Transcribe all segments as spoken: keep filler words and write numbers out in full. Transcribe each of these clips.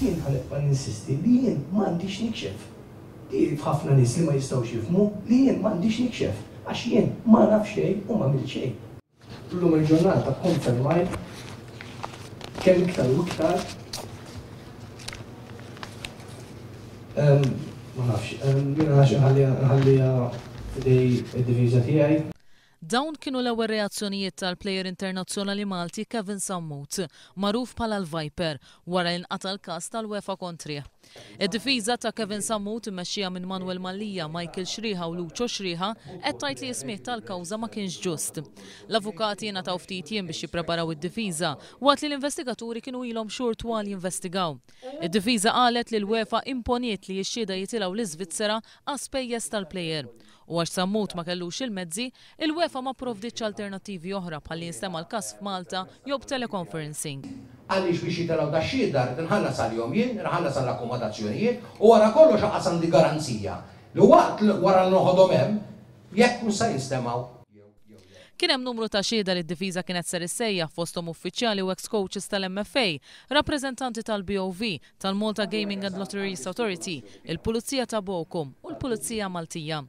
Jien ħa nibqa' ninsisti li jien m'għandix nikxef. Di f'ħafna nies li ma jistgħux jifhmu li jien m'għandix nikxef għax jien ma naf xejn u m'għamilt xejn. Illum il-ġurnata konfermajt kemm iktar u iktar ma nafx, jiena nħalliha f'idej id-difiża tiegħi. Dawn kienu l-ewwel reazzjonijiet tal-plejer internazzjonali Malti Kevin Sammut, magħruf bħala l-Viper, wara li nqata' l-każ tal-UEFA kontrih. Id-difiża ta' Kevin Sammut immexxija minn Manuel Mallia, Michael Xriħa u Lucio Xriħa qed tgħid li s-smigħ tal-kawża ma kienx ġust. L-avukati ngħataw ftit jiem biex jippreparaw id-difiża waqt li l-investigaturi kienu ilhom xhur twal jinvestigaw. Id-difiża qalet li l-UEFA imponiet li x-xhieda jitilgħu l-Iżvizzera għas-spejjeż tal-plejer. U għax Sammut ma kellux il-mezzi, il-UEFA ma pprovditx alternattivi oħra bħal li jinstema' l-każ f'Malta jew b'teleconferencing. Għaliex biex jitilgħu dax-xhieda rrid inħallas għalihom jien, inħallas għall-akkomodazzjonijiet u wara kollox anqas għandi garanzija li waqt wara li noħodhom hemm jekk mhux se jinstemgħu. Kien hemm numru ta' xhieda li d-difiża kienet ser issejjaħ fosthom uffiċjali u ex-coaches tal-M F A, rappreżentanti tal-B O V, tal-Malta Gaming and Lotteries Authority, il-Pulizija ta' Bochum u l-Pulizija Maltija.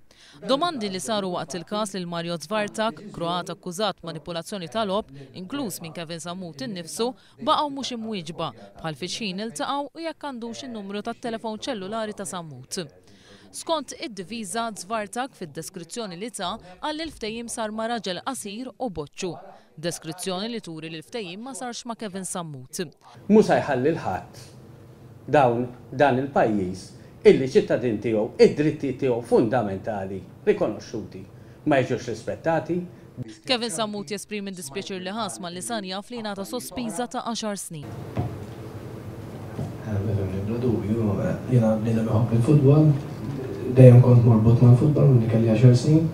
Domandi li saru waqt il-każ lil Mario Zvartak, Kroat akkużat manipulazzjoni tal-logħob, inkluż minn Kevin Sammut innifsu, baqgħu mhux imwieġba bħal fi x'ħin iltaqgħu u jekk għandux in-numru tat-telefon ċellulari ta' Sammut. Skont id-difiża, Zvartak fid-deskrizzjoni li ta qal li l-ftehim sar ma' raġel qasir u boċċu. Deskrizzjoni li turi li l-ftehim ma sarx ma' Kevin Sammut. Mhux se jħalli 'l ħadd dawn dan il-pajjiż illi ċittadin tiegħu id-drittijiet tiegħu fundamentali rikonoxxuti ma jiġux rispettati. Kevin Sammut jesprimi d-dispjaċir li ħass malli sar jaf li ngħata sospiża ta' għaxar snin. Bla dubju, jiena bniedem iħobb il-futbol, dejjem kont morbut mal-futbol minn kelli għaxar snin.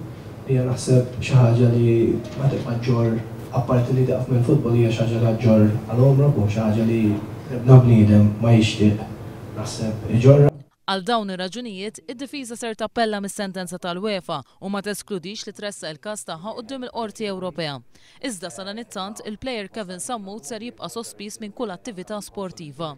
Hija naħseb xi ħaġa li ma tibqa' ġġorr, apparti li taqaf mill-futbol, hija xi ħaġa li ġġorr għal għomrok u xi ħaġa li ebda bniedem ma jixtieq naħseb iġorra. Għal dawn ir-raġunijiet, id-difiża ser tappella mis-sentenza tal-UEFA u ma teskludix li tressaq il-każ tagħha quddiem il-Qorti Ewropea. Iżda sadanittant il-plejer Kevin Sammut ser jibqa' sospiż minn kull attività sportiva.